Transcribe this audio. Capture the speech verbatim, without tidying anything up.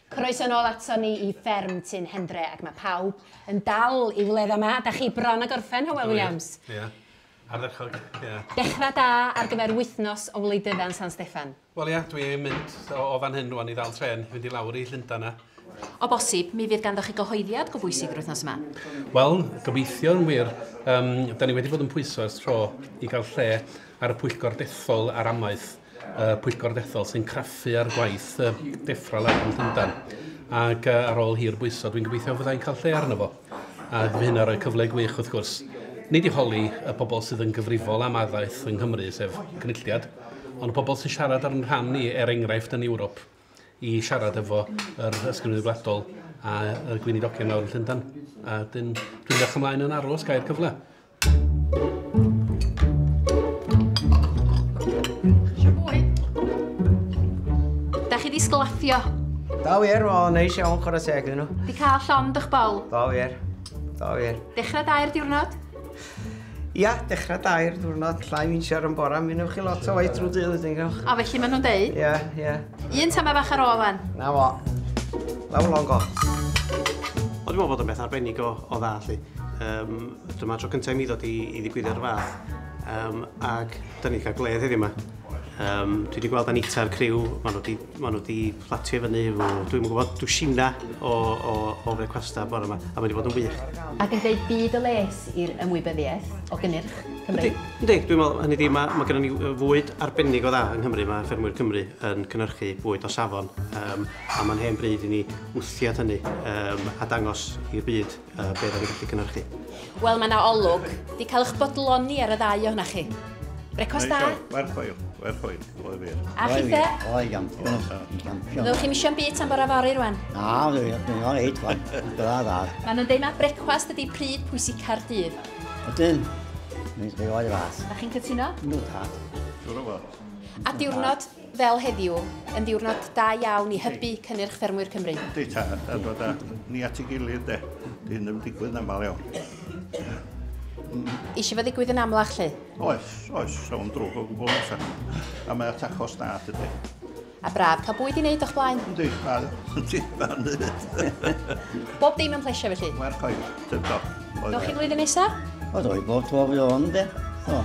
Croeso nôl ato ni i fferm Tyn Hendre, ac mae pawb yn dal i wledd yma. Da chi bron a gorffen, Hywel Williams? Ie, ardderchog, ie. Dechrau da ar gyfer wythnos o wleidydda yn San Steffan. Wel ia, dwi'n mynd o, o fan hyn rwan i ddal tren, i fynd i lawr i Llundain na. O bosib, mi fydd ganddo chi gyhoeddiad go bwysig yr wythnos yma. Wel, gobeithio yn wir. Um, da ni wedi bod yn pwyso ers tro i gael lle ar y pwyllgor dethol ar amaeth. Uh, pwyllgor dethol sy'n craffu ar gwaith uh, DEFRA lawr yn Llundain. Ac uh, ar ôl hir bwyso, dwi'n gobeithio fyddai'n cael lle arno fo. A fydd hynna rhoi cyfle gwych wrth gwrs. Nid i holi y pobl sydd yn gyfrifol am addysg yng Nghymru, sef Cynulliad, ond y pobl sy'n siarad ar yn rhan ni, er enghraifft yn Ewrop, i siarad efo yr Ysgrifennydd Gwladol a y gweinidogion lawr yn Llundain. A dyn, dwi'n edrych ymlaen yn aros gael cyfle. Da chi di sglaffio? Da wir, o, neis iawn, chwarae teg iddyn nhw. Di cael llond o'ch bol? Da wir, da wir. Dechrau da i'r diwrnod? Ia, dechrau da i'r diwrnod, llai finsiar yn bora, mi newch chi lot o waith drwy dydd ydyn gwch. O, felly maen nhw'n deud? Ia, ia. Un tama bach ar ôl fan. Na fo. Lawr long go. O, dwi'n meddwl bod o'n beth arbennig o, o dda, lly. Um, dyma tro cyntaf i mi ddod i, i ddigwyddiad o'r fath. Um, ac da ni'n cael gledd heddiw yma. Um, dwi wedi gweld Anita a'r criw, maen nhw wedi, ma nhw wedi platio fyny, dwi'n gwybod dwsina o, o, o frecwasta bore yma, a mae wedi bod yn wych. Ac yn dweud byd o les i'r ymwybyddiaeth o gynnyrch Cymru. Yndi, dwi'n meddwl, hynny di, mae, mae gennym ni fwyd arbennig o dda yng Nghymru, mae ffermwyr Cymru yn cynhyrchu bwyd o safon, um, a mae'n hen bryd i ni wthiad hynny um, a dangos i'r byd uh, be da ni'n gallu cynhyrchu. Wel, mae yna olwg, di cael eich bodloni ar y ddau ohonoch chi. Brecwast da? Werth chweil, werth chweil, oedd wir. A chithe? Oedd, gampion. Gampion. Fyddwch chi'n misio am byd tan bora fory rwan? Na, dwi'n o'n reit, wan. Dda, dda. Maen nhw'n deud ma brecwast ydi pryd pwysica'r dydd. Ydyn. Mi'n rhoi o'r fath. Da chi'n cytuno? Yndw, tad. Siŵr o fod. A diwrnod fel heddiw, yn ddiwrnod da iawn i hybu cynnyrch ffermwyr Cymru. Yndi, tad, a dod â ni at ei gilydd, de. Di hyn ddim digwydd yn aml iawn. Eisiau fo ddigwydd yn amlach, lle? Oes, oes, sa'n drwg o gwbl amser. A mae at achos da, dydy. A braf, cael bwyd i wneud o'ch blaen? Yndi, ma, yndi, ma'n neud. Bob dim yn plesio, felly? Werth chweil, tip top. Dowch chi flwyddyn nesaf? O, dwi bob tro fi o'n, de. O.